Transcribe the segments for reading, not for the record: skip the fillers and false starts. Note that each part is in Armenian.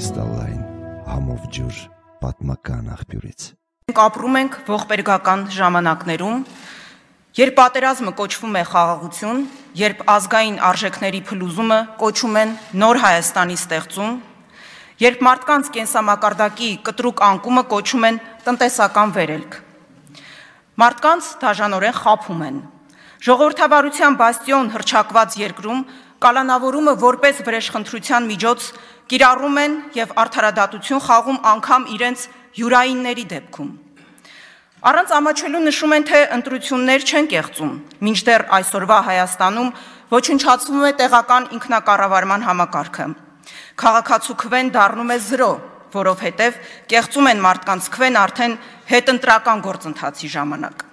կրիստալային համով ջուր պատմական աղբյուրից։ Ապրում ենք ողբերգական ժամանակներում, երբ պատերազմը կոչվում է խաղաղություն, երբ ազգային արժեքների փլուզումը կոչում են նոր Հայաստանի ստեղծում, երբ մարդկանց կենսամակարդակի կտրուկ անկումը կոչում են տնտեսական վերելք։ Մարդկանց դաժանորեն խաբում են։ Ժողովրդավարության բաստիոն հռչակված երկրում կալանավորումը որպես վրեժխնդրության միջոց կիրառում են եւ արդարադատություն խաղում անգամ իրենց յուրայինների դեպքում։ Առանց ամաչելու նշում են, թե ընտրություններ չեն կեղծում, մինչդեռ այսօրվա Հայաստանում ոչնչացվում է տեղական ինքնակառավարման համակարգը։ Քաղաքացու քվեն դառնում է 0, որովհետև կեղծում են մարդկանց քվեն արդեն հետընտրական գործընթացի ժամանակ։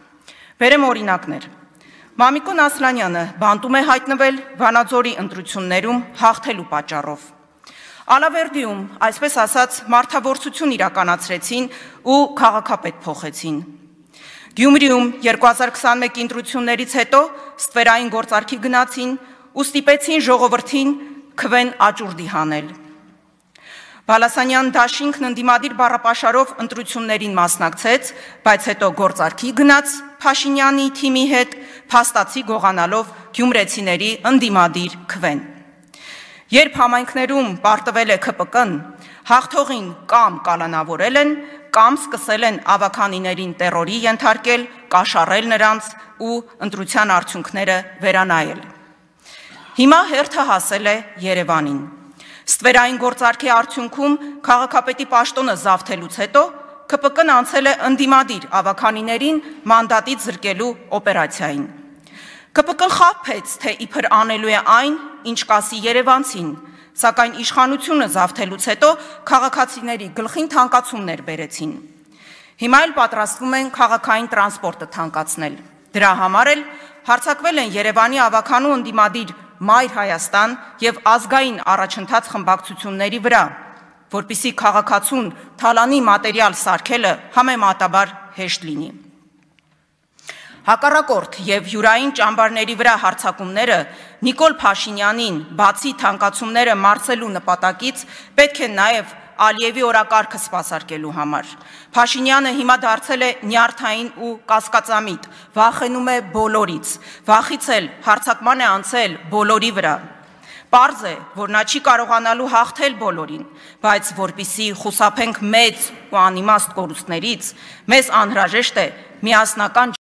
Բերեմ օրինակներ։ Մամիկոն Ասլանյանը բանտում է հայտնվել Վանաձորի ընտրություններում հաղթելու պատճառով։ Ալավերդիում, այսպես ասած, մարդավորություն իրականացրեցին ու քաղաքապետ փոխեցին։ Գյումրիում 2021 ընտրություններից հետո ստվերային գործարքի գնացին ու ստիպեցին ժողովրդին քվեն աճուրդի հանել։ Բալասանյան դաշինքն ընդդիմադիր բառապաշարով ընտրություններին մասնակցեց, բայց հետո գործարքի գնաց Փաշինյանի թիմի հետ, փաստացի գողանալով գյումրեցիների ընդդիմադիր քվեն։ Երբ համայնքներում պարտվել է ՔՊԿ-ն, հաղթողին կամ կալանավորել են, կամ սկսել են ավականիներին տերորի ենթարկել, կաշառել նրանց ու ընտրության արդյունքները վերանայել։ Հիմա հերթը հասել է Երևանին։ Ստվերային գործարքի արդյունքում քաղաքապետի պաշտոնը զավթելուց հետո ՔՊԿ-ն անցել է ընդդիմադիր ավականիներին մանդատից զրկելու օպերացիային։ ՔՊԿ-ն խաբեց, թե իբր անելու է այն, ինչ կասի երևանցին, սակայն իշխանությունը զավթելուց հետո քաղաքացիների գլխին թանկացումներ բերեցին։ Հիմա էլ պատրաստվում են քաղաքային տրանսպորտը թանկացնել։ Դրա համար էլ հարձակվել են Երևանի ավականու ընդդիմադիր Մայր Հայաստան եւ ազգային առաջընթաց խմբակցությունների վրա, որպիսի քաղաքացուն թալանի մատերիալ սարքելը համեմատաբար հեշտ լինի։ Հակառակորդ եւ յուրային ճամբարների վրա հարձակումները Նիկոլ Փաշինյանին բացի թանկացումները մարսելու նպատակից պետք է նաեւ Ալիևի օրակարգը սպասարկելու համար։ Փաշինյանը հիմա դարձել է նյարդային ու կասկածամիտ, վախենում է բոլորից, վախից էլ հարձակման է անցել բոլորի վրա։ Պարզ է, որ նա չի կարողանալու հաղթել բոլորին, բայց որպիսի խուսափենք մեծ ու անիմաստ կորուստներից, մեզ անհրաժեշտ է միասնական